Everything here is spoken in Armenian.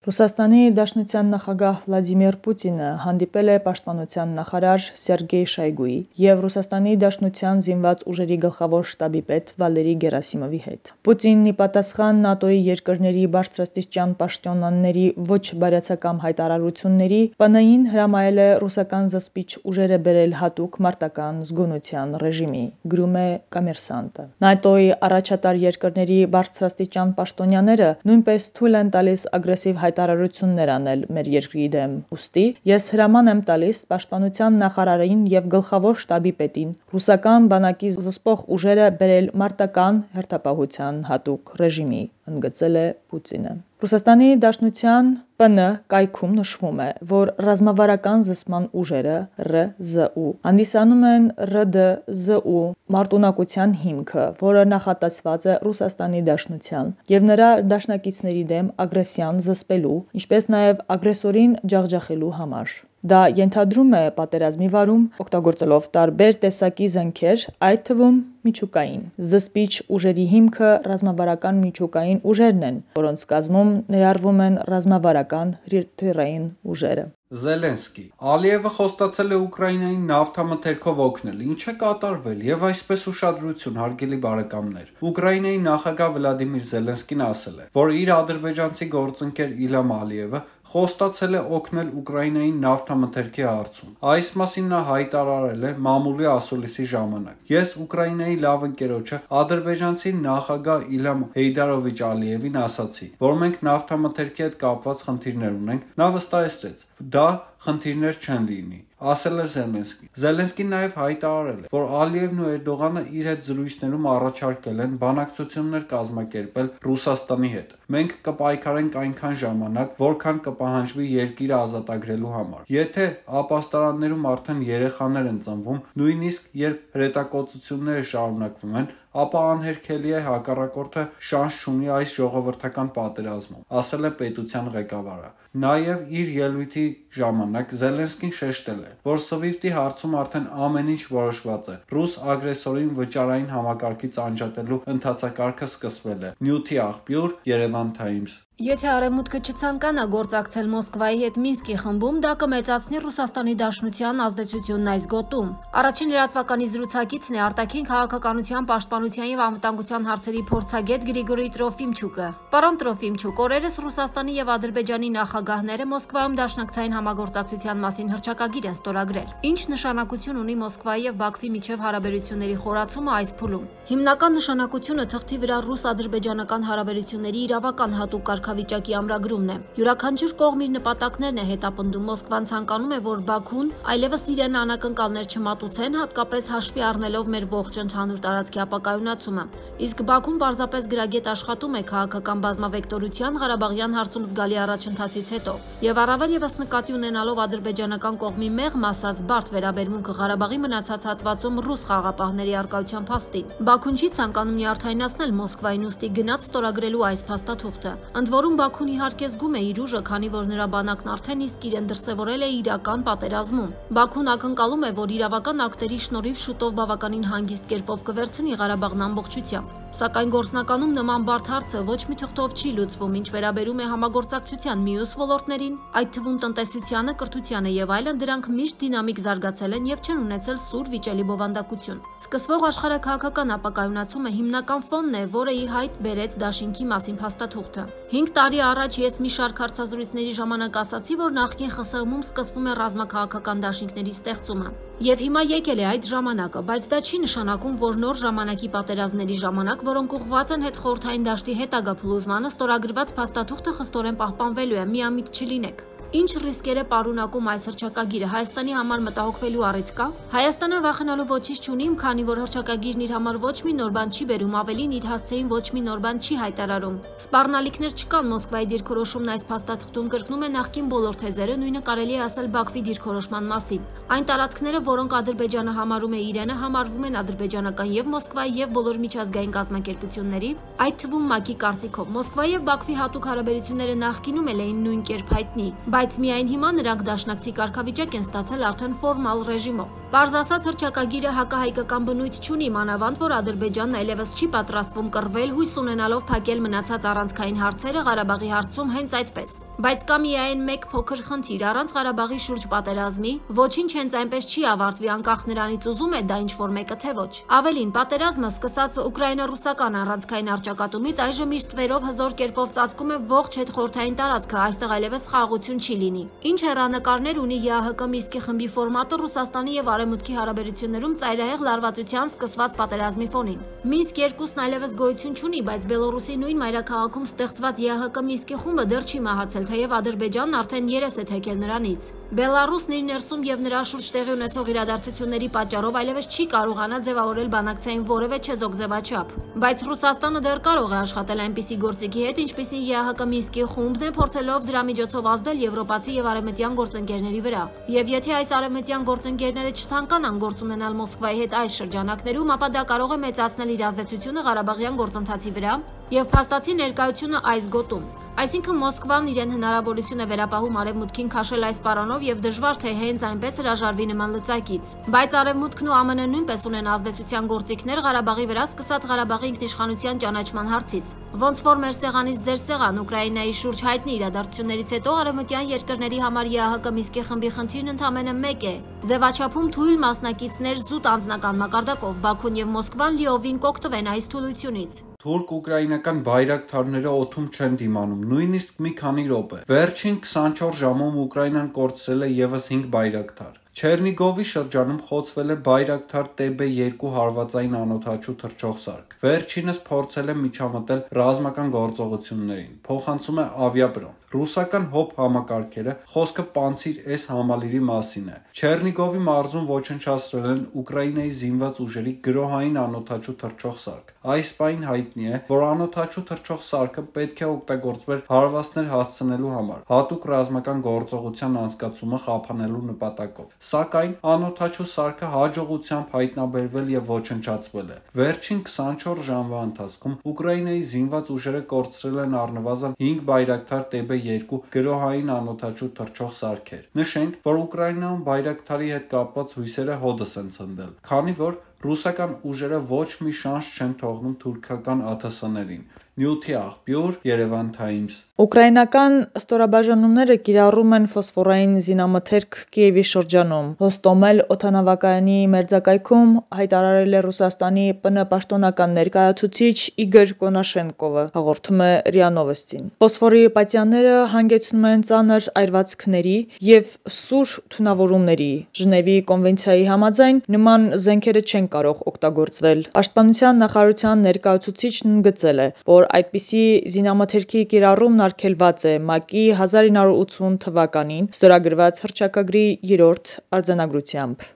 Ռուսաստանի Դաշնության նախագահ Վլադիմիր Պուտինը հանդիպել է պաշտպանության նախարար Սերգեյ Շոյգուի և Ռուսաստանի Դաշնության զինված ուժերի գլխավոր շտաբի պետ Վալերի Գերասիմովի հետ։ Պուտինն ի պատասխան ՆԱՏՕ-ի երկրների բարձրաստիճան պաշտոնյաների ոչ բարյացակամ հայտարարությունների ՊՆ-ին հրամայել է ռուսական զսպիչ ուժերը բերել հատուկ մարտական զգոնության ռեժիմի, գրում է Կոմերսանտը։ ՆԱՏՕ-ի առաջատար երկրների բարձրաստիճան պաշտոնյաները նույնպես թույլ են տալիս ագրեսիվ հայտարարություններ անել մեր երկրի դեմ, ուստի ես հրաման եմ տալիս պաշտպանության նախարարին և գլխավոր շտաբի պետին ռուսական բանակի զսպող ուժերը բերել մարտական հերթապահության հատուկ ռեժիմի, ընդգծել է Պուտինը։ Ռուսաստանի Դաշնության ՊՆ կայքում նշվում է, որ ռազմավարական զսպման ուժերը ՌԶՈՒ հանդիսանում են ՌԴԶՈՒ մարտունակության հիմքը, որը նախատեսված է Ռուսաստանի Դաշնության և նրա դաշնակիցների դեմ ագրեսիան զսպելու, ինչպես նաև ագրեսորին ջախջախելու համար։ Դա ենթադրում է պատերազմի վարում, օգտագործելով տարբեր տեսակի զենքեր, այդ թվում միջուկային։ Զսպիչ ուժերի հիմքը ռազմավարական միջուկային ուժերն են, որոնց կազմում ներառվում են ռազմավարական հրթիռային ուժերը։ Զելենսկի. Ալիևը խոստացել է Ուկրաինային նավթամթերքով օգնել, ինչ է կատարվել, եւ այսպես ուշադրություն, հարգելի բարեկամներ։ Ուկրաինայի նախագահ Վլադիմիր Զելենսկին ասել է, որ իր ադրբեջանցի գործընկեր Իլհամ Ալիևը խոստացել է օգնել Ուկրաինային նավթամթերքի հարցում։ Այս մասին նա հայտարարել է մամուլի ասուլիսի ժամանակ։ Ես Ուկրաինայի լավ ընկերոջը ադրբեջանցի նախագահ Իլհամ Հեյդարովիչ Ալիևին ասացի, որ մենք նավթամթերքի հետ կապված խնդիրներ ունենք։ Նա վստահեցրեց, դա խնդիրներ չեն լինի, ասել է Զելենսկին։ Զելենսկին նաև հայտարարել է, որ Ալիևն ու Էրդողանը իր հետ զրույցներում առաջարկել են բանակցություններ կազմակերպել Ռուսաստանի հետ։ Մենք կպայքարենք այնքան ժամանակ, որքան կպահանջվի երկիրը ազատագրելու համար։ Եթե ապաստարաններում արդեն երեխաներ են ծնվում, նույնիսկ երբ հրետակոծությունները շարունակվում են, ապա անհերքելի է հակառակորդը շանս չունի այս ժողովրդական պատերազմում, ասել է պետության ղեկավարը։ Նաև իր ելույթի ժամանակ Զելենսկին շեշտել է, որ Սվիֆտի հարցում արդեն ամեն ինչ որոշված է։ Ռուս ագրեսորին վճարային համակարգից անջատելու ընթացակարգը սկսվել է։ Նյութի աղբյուր Երևան Times։ Եթե Արևմուտքը չցանկանա գործակցել Մոսկվայի հետ Մինսկի խմբում, դա կմեծացնի Ռուսաստանի Դաշնության ազդեցությունն այս գոտում։ Առաջին լրատվականի զրուցակիցն է արտաքին քաղաքականության, պաշտպանության եւ անվտանգության հարցերի փորձագետ Գրիգորի Տրոֆիմչուկը։ Պարոն Տրոֆիմչուկ, օրերս Ռուսաստանի եւ Ադրբեջանի նախագահները Մոսկվայում դաշնակցային համագործակցության մասին հռչակագիր են ստորագրել։ Ինչ նշանակություն ունի Մոսկվայի եւ Բաքվի միջև հարաբերությունների խորացումը այս փուլում։ Հիմնական նշանակությունը թղթի վրա ռուս-ադրբեջանական հարաբերությունների իրավական հատուկ կարգավիճակի ամրագրումն է։ Յուրաքանչյուր կողմ իր նպատակներն է հետապնդում։ Մոսկվան ցանկանում է, որ Բաքուն այլևս իրեն անակնկալներ չմատուցեն, հատկապես հաշվի առնելով մեր ողջ ընդհանուր տարածքի ապակայունացումը։ Իսկ Բաքուն պարզապես գրագետ աշխատում է քաղաքական բազմավեկտորության Ղարաբաղյան հարցում զգալի առաջընթացից հետո։ Եվ առավել եւս նկատի ունենալով ադրբեջանական կողմի մեղմ ասած բարդ վերաբերմունքը Ղարաբաղի մնացած հատվածում ռուս խաղաղապահների առկայության փաստին։ Բաքուն չի ցանկանում նյարդայնացնել Մոսկվային, ուստի գնաց ստորագրելու այս փաստաթուղթը։ Ընդ որում Բաքուն իհարկե զգում է իր ուժը, քանի որ նրա բանակն արդեն իսկ իրեն դրսևորել է իրական պատերազմում։ Բաքուն ակնկալում է, որ իրավական ակտերի շնորհիվ շուտով բավականին հանգիստ կերպով կվերցնի Ղարաբաղն ամբողջությամբ։ Սակայն գործնականում նման բարդ հարցը ոչ մի թղթով չի լուծվում, ինչ վերաբերում է համագործակցության մյուս ոլորտներին, այդ թվում տնտեսությանը, կրթությանը եւ այլն, դրանք միշտ դինամիկ զարգացել են եւ չեն ունեցել սուր վիճելի բովանդակություն։ Սկսվող աշխարհաքաղաքական ապակայունացումը հիմնական ֆոնն է, որը ի հայտ բերեց դաշինքի մասին փաստաթուղթը։ 5 տարի առաջ ես մի շարք հարցազրույցների ժամանակ ասացի, որ նախկին ԽՍՀՄ-ում սկսվում է ռազմաքաղաքական դաշինքների ստեղծումը։ Եվ հիմա եկել է այդ ժամանակը, բայց դա չի նշանակում, որ նոր ժամանակի պատերազմների ժամանակ, որոնք ուղղված են հետխորհրդային դաշտի հետագա փլուզմանը, ստորագրված փաստաթուղթը խստորեն պահպանվելու է, միամիտ չլինեք։ Ինչ ռիսկեր է պարունակում այս հռչակագիրը, Հայաստանի համար մտահոգվելու առիթ կա։ Հայաստանը վախենալու ոչինչ չունի, քանի որ հռչակագիրն իր համար ոչ մի նոր բան չի բերում, ավելին իր հասցեին ոչ մի նոր բան չի հայտարարում։ Սպառնալիքներ չկան Մոսկվայի դիրքորոշումն այս փաստաթղթում կրկնում է նախկին բոլոր թեզերը, նույնը կարելի է ասել Բաքվի դիրքորոշման մասին։ Այն տարածքները, որոնք Ադրբեջանը համարում է իրենը, համարվում են ադրբեջանական եւ Մոսկվայի եւ բոլոր միջազգային կազմակերպությունների, այդ թվում ՄԱԿ-ի կարծիքով։ Մոսկվայի եւ Բաքվի հատուկ հարաբերությունները նախկինում էլ էին նույն կերպ հայտնի, բայց միայն հիմա նրանք դաշնակցի կարգավիճակ են ստացել արդեն ֆորմալ ռեժիմով։ Պարզ ասած, հռչակագիրը հակահայկական բնույթ չունի, մանավանդ որ Ադրբեջանն այլևս չի պատրաստվում կռվել, հույս ունենալով փակել մնացած առանցքային հարցերը Ղարաբաղի հարցում հենց այդպես։ Բայց կա միայն մեկ փոքր խնդիր՝ առանց Ղարաբաղի շուրջ պատերազմի ոչինչ հենց այնպես չի ավարտվի, անկախ նրանից ուզում է դա ինչ-որ մեկը թե ոչ։ Ավելին, պատերազմը սկսած ուկրաինա-ռուսական առանցքային առճակատումից այժմ իր ստվերով հզոր կերպով ծածկում է ողջ հետխորհրդային տարածքը, այստեղ այլևս խաղաղություն չի լինի։ Ինչ հեռանկարներ ունի ԵԱՀԿ Մինսկի խմբի ֆորմատը Ռուսաստանի եւ Արևմուտքի հարաբերություններում ծայրահեղ լարվածության սկսված պատերազմի ֆոնին։ Մինսկ 2-ն այլևս գոյություն չունի, բայց Բելոռուսի նույն մայրաքաղաքում ստեղծված ԵԱՀԿ Մինսկի խումբը դեռ չի մահացել, թեև Ադրբեջանն արդեն երես է թեքել նրանից։ Բելառուսն իր ներսում եւ նրա շուրջ տեղի ունեցող իրադարձությունների պատճառով այլևս չի կարողանա ձևավորել բանակցային որևէ չեզոք ձևաչափ։ Բայց Ռուսաստանը դեռ կարող է աշխատել այնպիսի գործիքի հետ, ինչպիսին ԵԱՀԿ Մինսկի խումբն է, փորձելով դրա միջոցով ազդել եվրոպացի եւ արևմտյան գործընկերների վրա։ Եվ եթե այս արևմտյան գործընկերները չցանկանան գործ ունենալ Մոսկվայի հետ այս շրջանակներում, ապա դա կարող է մեծացնել իր ազդեցությունը Ղարաբաղյան գործընթացի վրա եւ փաստացի ներկայությունը այս գոտում։ Այսինքն Մոսկվան իրեն հնարավորություն է վերապահում Արևմուտքին քաշել այս պարանով եւ դժվար թե հենց այնպես հրաժարվի նման լծակից։ Բայց Արևմուտքն ու ԱՄՆ-ն նույնպես ունեն ազդեցության գործիքներ Ղարաբաղի վրա, սկսած Ղարաբաղի ինքնիշխանության ճանաչման հարցից։ Ոնց որ մեր սեղանից ձեր սեղան Ուկրաինայի շուրջ հայտնի իրադարձություններից հետո արևմտյան երկրների համար ԵԱՀԿ Մինսկի խմբի խնդիրն ընդամենը մեկ է՝ ձևաչափում թույլ մասնակիցներ զուտ անձնական մակարդակով, Բաքուն եւ Մոսկվան լիովին կօգտվեն այս թուլությունից։ Թուրք-ուկրաինական բայրակթարները օդում չեն դիմանում, նույնիսկ մի քանի րոպե։ Վերջին 24 ժամում Ուկրաինան կորցրել է եւս 5 բայրակթար։ Չերնիգովի շրջանում խոցվել է բայրակթար TB2 հարվածային անօդաչու թռչող սարք։ Վերջինս փորձել է միջամտել ռազմական գործողություններին, փոխանցում է ավիապրոն։ Ռուսական ՀՕՊ համակարգերը խոսքը Պանցիր S համալիրի մասին է։ Չերնիգովի մարզում ոչնչացրել են Ուկրաինայի զինված ուժերի գրոհային անօդաչու թռչող սարք։ Այս պայն հայտնի է, որ անօդաչու թռչող սարքը պետք է օգտագործվեր հարվածներ հասցնելու համար, հատուկ ռազմական գործողության անցկացումը խափանելու նպատակով։ Սակայն անօդաչու սարքը հաջողությամբ հայտնաբերվել եւ ոչնչացվել է։ Վերջին 24 ժամվա ընթացքում Ուկրաինայի զինված ուժերը կորցրել են առնվազն 5 բայրակթար TB2 գրոհային անօդաչու թռչող սարքեր։ Նշենք, որ Ուկրաինայում բայրակթարի հետ կապված հույսերը հոդս են ցնդել, քանի որ ռուսական ուժերը ոչ մի շանս չեն թողնում թուրքական ԱԹՍ-ներին։ Նյութի աղբյուր Երևան Times։ Ուկրաինական ստորաբաժանումները կիրառում են ֆոսֆորային զինամթերք Կիևի շրջանում։ Հոստոմել օդանավակայանի մերձակայքում հայտարարել է Ռուսաստանի ՊՆ պաշտոնական ներկայացուցիչ Իգոր Կոնաշենկովը, հաղորդում է ՌԻԱ Նովոստին։ Ֆոսֆորի պատյանները հանգեցնում են ծանր այրվածքների եւ սուր թունավորումների։ Ժնևի կոնվենցիայի համաձայն նման զենքերը չեն կարող օգտագործվել։ Պաշտպանության նախարարության ներկայացուցիչն ընդգծել է, որ այդպիսի զինամթերքի կիրառումն արգելված է ՄԱԿ-ի 1980 թվականին ստորագրված հռչակագրի 3-րդ արձանագրությամբ։